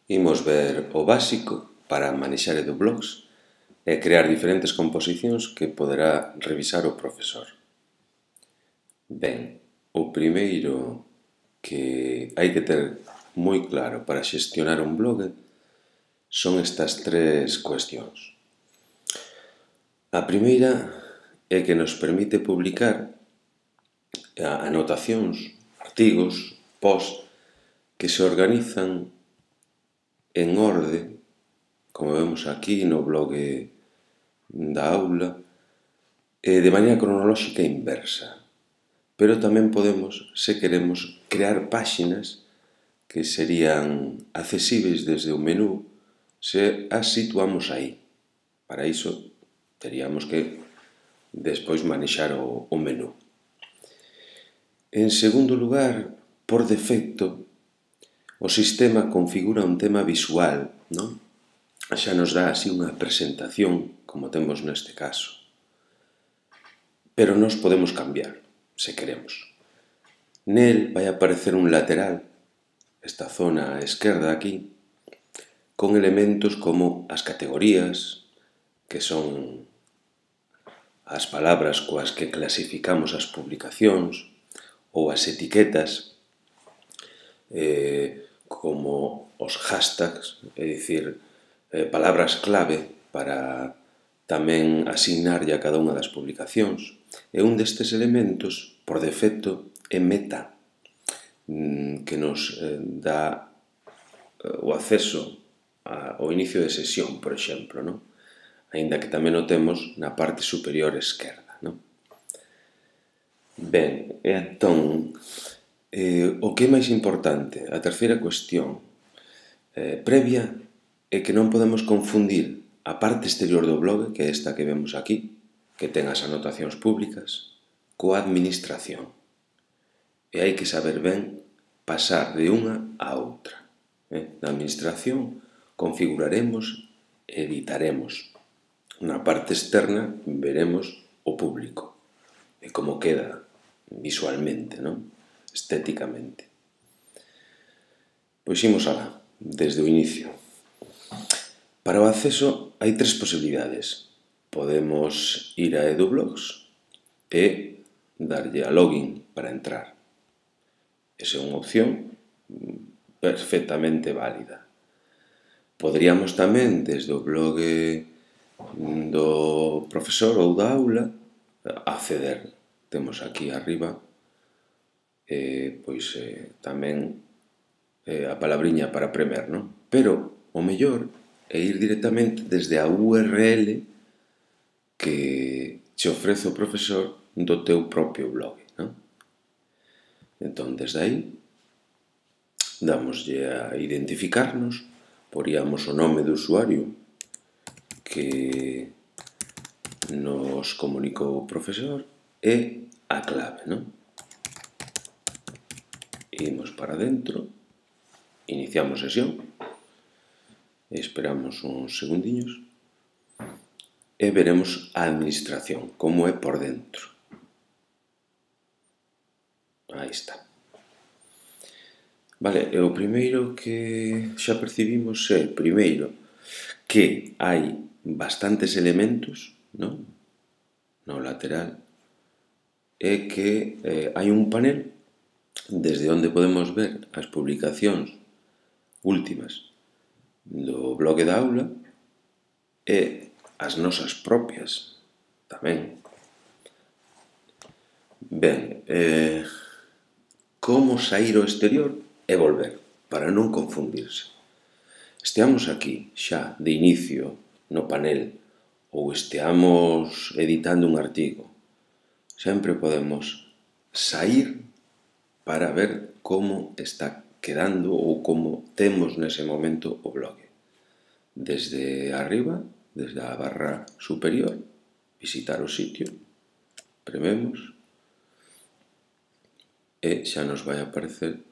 Imos ver o básico para manexar EduBlogs e crear diferentes composicións que poderá revisar o profesor. Ben, o primeiro que hai que ter moi claro para xestionar un blog son estas tres cuestións. A primeira é que nos permite publicar anotacións, artigos, posts que se organizan en orde, como vemos aquí no blog da aula, de maneira cronolóxica inversa. Pero tamén podemos, se queremos, crear páxinas que serían accesibles desde o menú se as situamos aí. Para iso teríamos que despois manexar o menú. En segundo lugar, por defecto, o sistema configura un tema visual, non? Xa nos dá así unha presentación, como temos neste caso. Pero nos podemos cambiar, se queremos. Nel vai aparecer un lateral, esta zona á esquerda aquí, con elementos como as categorías, que son as palabras coas que clasificamos as publicacións, ou as etiquetas, como os hashtags, é dicir, palabras clave para tamén asignarlle a cada unha das publicacións. E un destes elementos, por defecto, é meta, que nos dá o acceso ao inicio de sesión, por exemplo, non? Aínda que tamén o temos na parte superior esquerda, non? Ben, entón, o que é máis importante, a terceira cuestión previa, é que non podemos confundir a parte exterior do blog, que é esta que vemos aquí, que ten as anotacións públicas, coa administración. E hai que saber ben pasar de unha a outra. Na administración configuraremos e editaremos. Na parte externa veremos o público e como queda visualmente, non? Estéticamente. Pois imos alá, desde o inicio. Para o acceso hai tres posibilidades. Podemos ir a EduBlogs e darlle a login para entrar. Esa é unha opción perfectamente válida. Poderíamos tamén, desde o blog do profesor ou da aula, acceder. Temos aquí arriba tamén a palabriña para premer, non? Pero o mellor é ir directamente desde a URL que che ofrece o profesor do teu propio blog, non? Entón, desde aí, damoslle a identificarnos, poríamos o nome do usuario que nos comunicou o profesor e a clave, non? Imos para dentro, iniciamos sesión, esperamos uns segundiños e veremos a administración, como é por dentro. Aí está. Vale, e o primeiro que xa percibimos é, primeiro, que hai bastantes elementos, non? No lateral, e que hai un panel desde onde podemos ver as publicacións últimas do blog da aula e as nosas propias tamén. Ben, como saír ao exterior e volver, para non confundirse. Esteamos aquí xa de inicio no panel ou esteamos editando un artigo, sempre podemos saír para ver como está quedando ou como temos nese momento o blog. Desde arriba, desde a barra superior, visitar o sitio, prememos e xa nos vai aparecer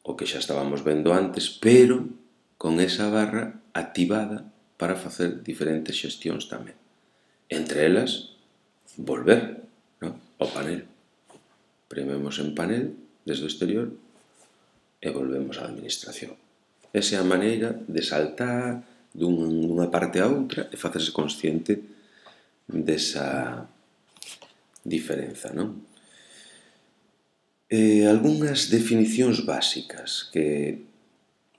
o que xa estábamos vendo antes, pero con esa barra activada para facer diferentes xestións tamén. Entre elas, volver ao panel. Prememos en panel desde o exterior e volvemos á administración. Esa é a maneira de saltar dunha parte a outra e facerse consciente desa diferenza, non? Algunhas definicións básicas que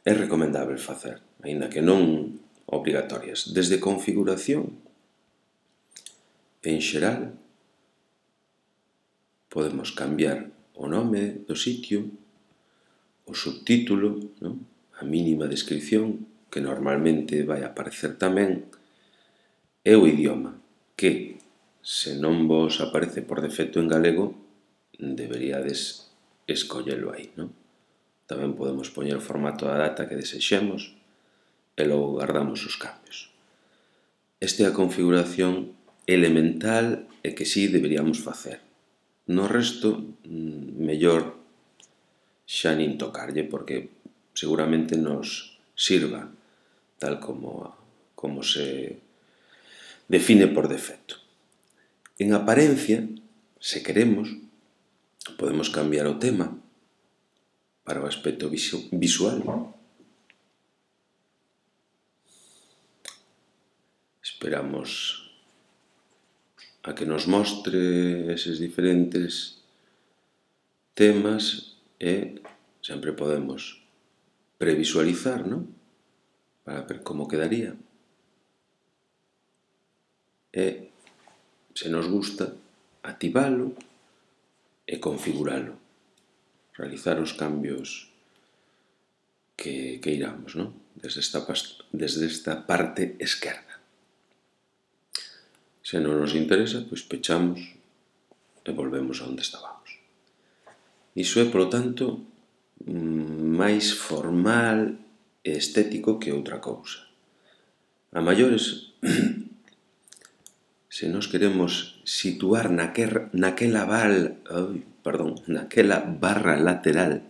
é recomendável facer, aínda que non obrigatorias. Desde configuración, en xeral, podemos cambiar o nome do sitio, o subtítulo, non? A mínima descripción, que normalmente vai aparecer tamén, e o idioma, que, se non vos aparece por defecto en galego, deberíades escollelo aí, non? Tamén podemos poñer o formato da data que desexemos e logo guardamos os cambios. Esta é a configuración elemental e que sí deberíamos facer. No resto, mellor xa nin tocarlle, porque seguramente nos sirva tal como se define por defecto. En apariencia, se queremos, podemos cambiar o tema para o aspecto visual. Esperamos a que nos mostre eses diferentes temas e sempre podemos previsualizar, non? Para ver como quedaría. E, se nos gusta, activalo e configuralo. Realizar os cambios que iramos, non? Desde esta parte esquerda. Se non nos interesa, pois pechamos e volvemos a onde estábamos. Iso é, polo tanto, máis formal e estético que outra cousa. A maiores, se nos queremos situar naquela barra lateral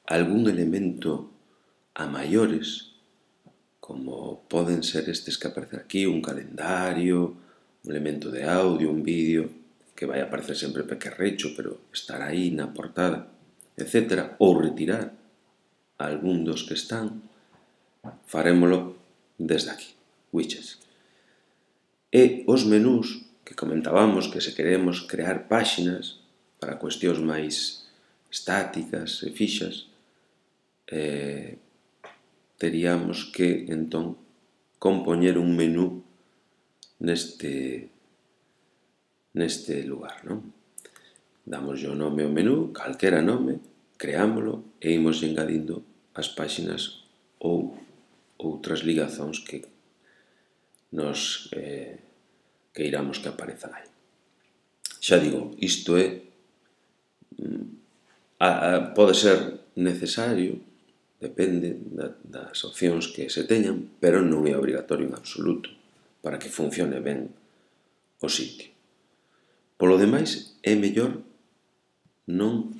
algún elemento a maiores, como poden ser estes que aparecen aquí, un calendario, un elemento de audio, un vídeo, que vai aparecer sempre pequerrecho, pero estará aí na portada, etc. Ou retirar algún dos que están, farémolo desde aquí, widgets. E os menús que comentábamos que se queremos crear páxinas para cuestións máis estáticas e fixas, teríamos que, entón, compoñer un menú neste lugar, non? Damoslle o nome ao menú, calquera nome, creámolo e imos engadindo as páxinas ou outras ligazóns que nos queiramos que aparezan aí. Xa digo, isto é pode ser necesario, depende das opcións que se teñan, pero non é obrigatorio en absoluto para que funcione ben o sitio. Polo demais, é mellor non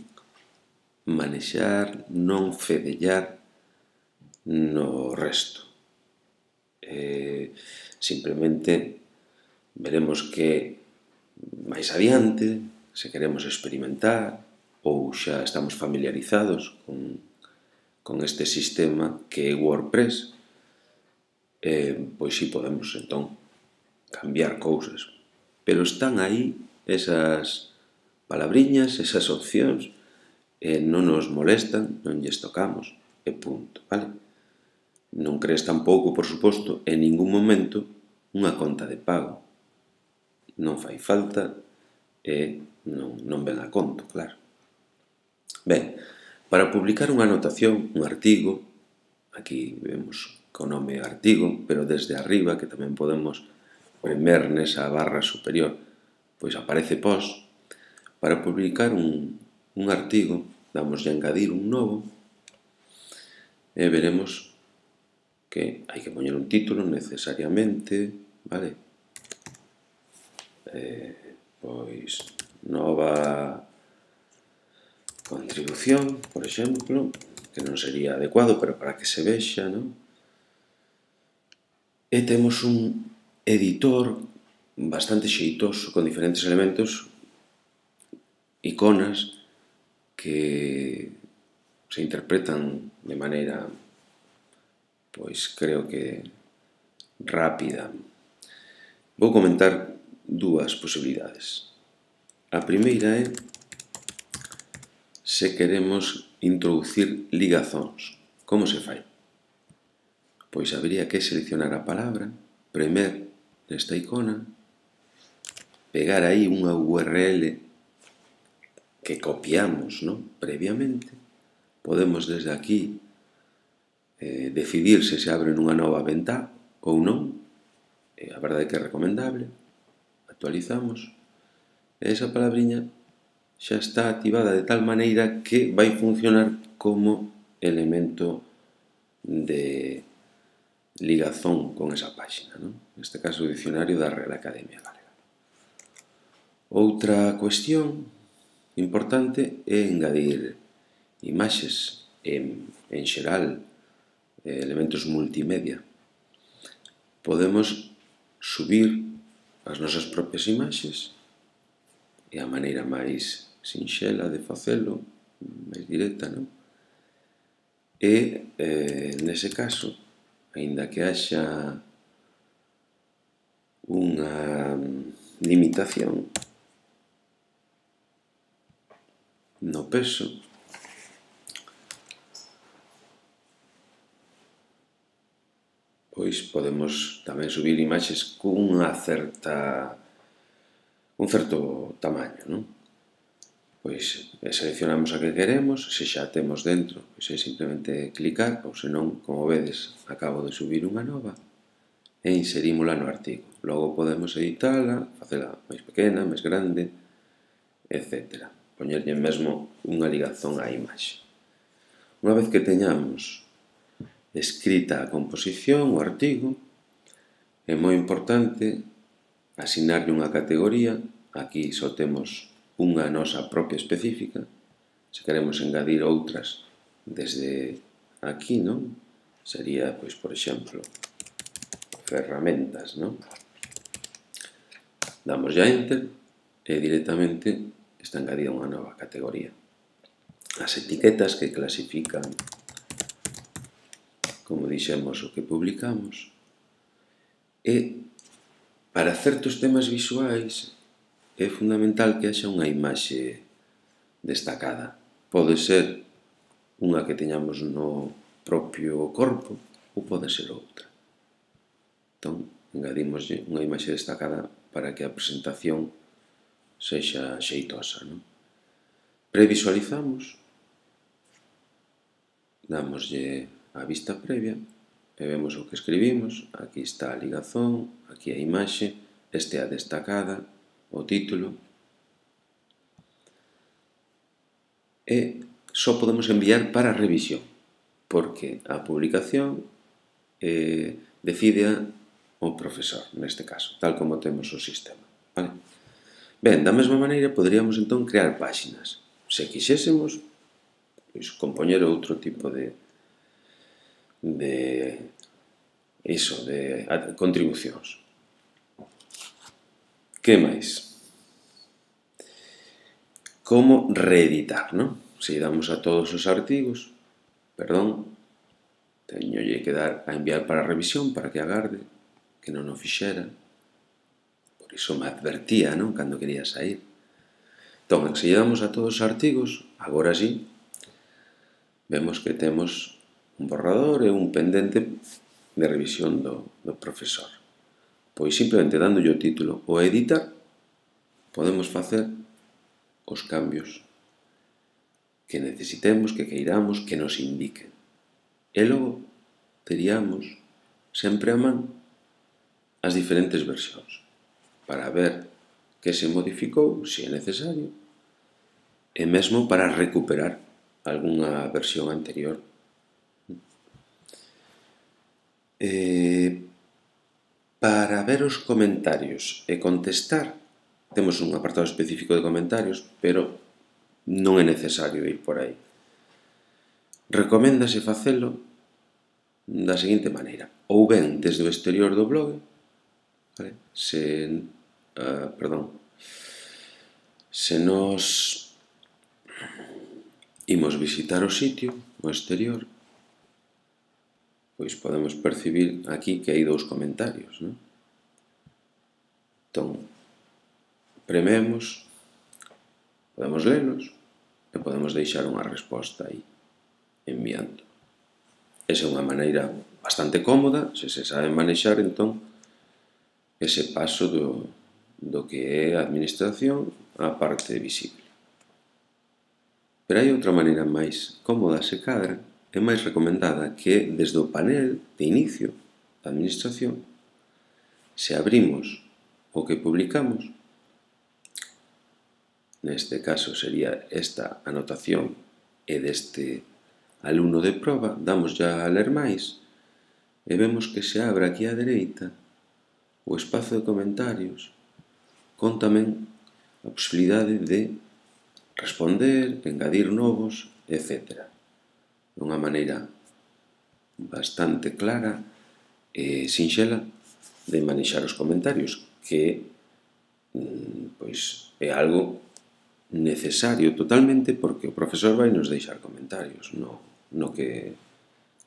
manexar, non fedellar no resto. Simplemente veremos que máis adiante, se queremos experimentar ou xa estamos familiarizados con este sistema que é WordPress, pois si podemos, entón, cambiar cousas. Pero están aí esas palabriñas, esas opcións, non nos molestan, non lles tocamos, e punto, vale? Non crees tampouco, por suposto, en ningún momento unha conta de pago. Non fai falta e non ven a conto, claro. Ben, para publicar unha anotación, un artigo, aquí vemos co nome artigo, pero desde arriba, que tamén podemos premer nesa barra superior, pois aparece post. Para publicar un artigo, damoslle a engadir un novo e veremos que hai que poñer un título necesariamente, vale? Pois nova contribución, por exemplo, que non sería adecuado, pero para que se vexa, non? E temos un editor bastante xeitoso, con diferentes elementos, iconas que se interpretan de maneira pois creo que rápida. Vou comentar dúas posibilidades. A primeira é se queremos introducir ligazóns. Como se fai? Pois habería que seleccionar a palabra, premer nesta icona, pegar aí unha URL que copiamos, non? Previamente. Podemos desde aquí decidir se abre nunha nova ventá ou non. A verdade é que é recomendable. Actualizamos. E esa palabriña xa está activada de tal maneira que vai funcionar como elemento de ligazón con esa páxina, non? Neste caso, o dicionario da Real Academia Galega. Outra cuestión importante é engadir imaxes, en xeral, elementos multimedia. Podemos subir as nosas propias imaxes, é a maneira máis sinxela de facelo, máis directa, non? E, nese caso, aínda que haxa unha limitación no peso, pois podemos tamén subir imaxes un certo tamaño, non? Pois seleccionamos a que queremos, se xa temos dentro, pois é simplemente clicar, ou senón, como vedes, acabo de subir unha nova e inserímola no artigo. Logo podemos editala, facela máis pequena, máis grande, etc. Poñerlle mesmo unha ligazón á imaxe. Unha vez que teñamos escrita a composición, o artigo, é moi importante asignarlle unha categoría. Aquí só temos unha nosa propia específica. Se queremos engadir outras desde aquí, non? Sería, pois, por exemplo, ferramentas, non? Damos ya Enter e directamente está engadida unha nova categoría. As etiquetas que clasifican, como dixemos, o que publicamos. E para certos temas visuais é fundamental que haxa unha imaxe destacada. Pode ser unha que teñamos no propio corpo ou pode ser outra. Entón, engadimos unha imaxe destacada para que a presentación sexa xeitosa, non? Previsualizamos, damoslle a vista previa e vemos o que escribimos. Aquí está a ligazón, aquí a imaxe, este é a destacada, o título. E só podemos enviar para revisión, porque a publicación decide o profesor, neste caso, tal como temos o sistema. Vale? Ben, da mesma maneira, poderíamos entón crear páxinas. Se quixésemos, pois, compoñer outro tipo de contribucións. Que máis? Como reeditar, non? Se damos a todos os artigos, teñolle que dar a enviar para revisión para que agarde, que non o fixera. Por iso me advertía, non? Cando quería sair. Entón, se lle damos a todos os artigos, agora sí, vemos que temos un borrador e un pendente de revisión do profesor. Pois simplemente dándolle o título o editar, podemos facer os cambios que necesitemos, que queiramos, que nos indiquen. E logo teríamos sempre a man as diferentes versións para ver que se modificou, se é necesario, e mesmo para recuperar algunha versión anterior. Para ver os comentarios e contestar, temos un apartado específico de comentarios, pero non é necesario ir por aí. Recoméndase facelo da seguinte maneira: ou ben desde o exterior do blog, se nos imos visitar o sitio, o exterior, pois podemos percibir aquí que hai dous comentarios, non? Entón, prememos, podemos lelos e podemos deixar unha resposta aí, enviando. Esa é unha maneira bastante cómoda, se se sabe manexar, entón, ese paso do que é a administración á parte visible. Pero hai outra maneira máis cómoda, se cadra, e máis recomendada, que é desde o panel de inicio da administración, se abrimos o que publicamos, neste caso sería esta anotación e deste alumno de proba, damos ya a ler máis e vemos que se abre aquí á dereita o espazo de comentarios con tamén a posibilidade de responder, engadir novos, etc. De unha maneira bastante clara e sinxela de manexar os comentarios, que pois é algo necesario totalmente, porque o profesor vai nos deixar comentarios no que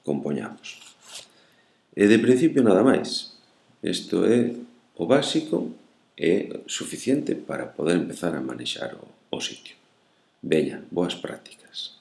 compoñamos. E de principio nada máis. Isto é o básico e suficiente para poder empezar a manexar o sitio. Veña, boas prácticas.